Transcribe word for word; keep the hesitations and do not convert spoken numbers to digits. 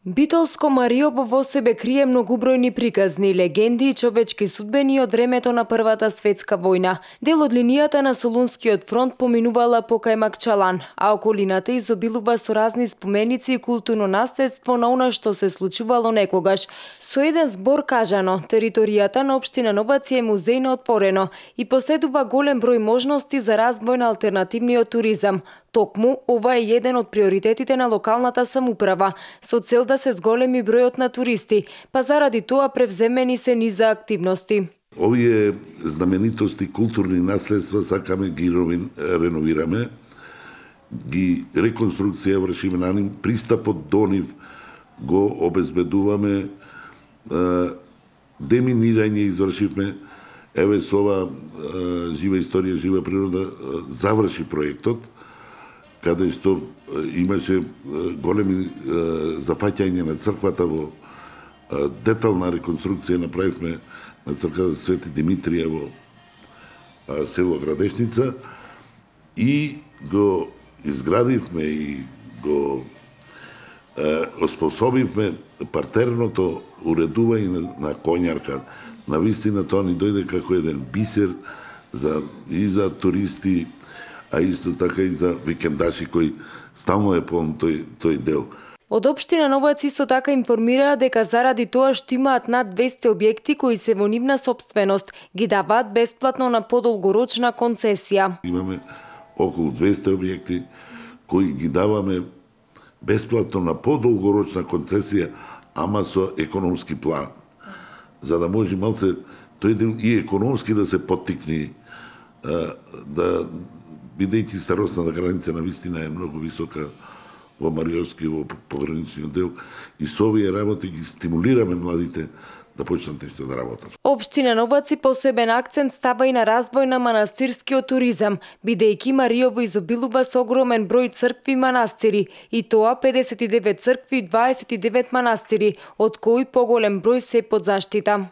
Битолско Мариово во себе крие многубројни приказни, легенди и човечки судбени од времето на Првата светска војна. Дел од линијата на Солунскиот фронт поминувала покрај Макчалан, а околината изобилува со разни споменици и културно наследство на она што се случувало некогаш. Со еден збор кажано, територијата на општина Новаци е музејно отпорено и поседува голем број можности за развој на алтернативниот туризам. Токму, ова е еден од приоритетите на локалната самоуправа, со цел да се зголеми бројот на туристи, па заради тоа превземени се низа активности. Овие знаменитости, културни наследства сакаме ги реновираме, ги реконструкција вршиме на нив, пристапот до нив го обезбедуваме, деминирање извршивме, еве со ова жива историја, жива природа заврши проектот, каде што имаше големи зафаќање на црквата во детална реконструкција направивме на црквата Свети Димитрија во село Градешница и го изградивме и го оспособивме партерното уредување на, на коњарка. Навистина тоа ни дојде како еден бисер за, и за туристи, а исто така и за викендаши кои стално е полн тој, тој дел. Од општина Новац исто така информираа дека заради тоа што имаат над двесте објекти кои се во нивна сопственост, ги даваат бесплатно на подолгорочна концесија. Имаме околу двесте објекти кои ги даваме бесплатно на подолгорочна концесија, ама со економски план. За да може малце тој дел и економски да се поттикне, да бидејќи старосната граница на вистина е многу висока во Мариовски, во пограничниот дел, и со овие работи ги стимулираме младите да почнат нешто да работат. Општина Новаци посебен акцент става и на развој на манастирскиот туризам, бидејќи Мариово изобилува со огромен број цркви и манастири, и тоа педесет и девет цркви и дваесет и девет манастири, од кои поголем број се под заштита.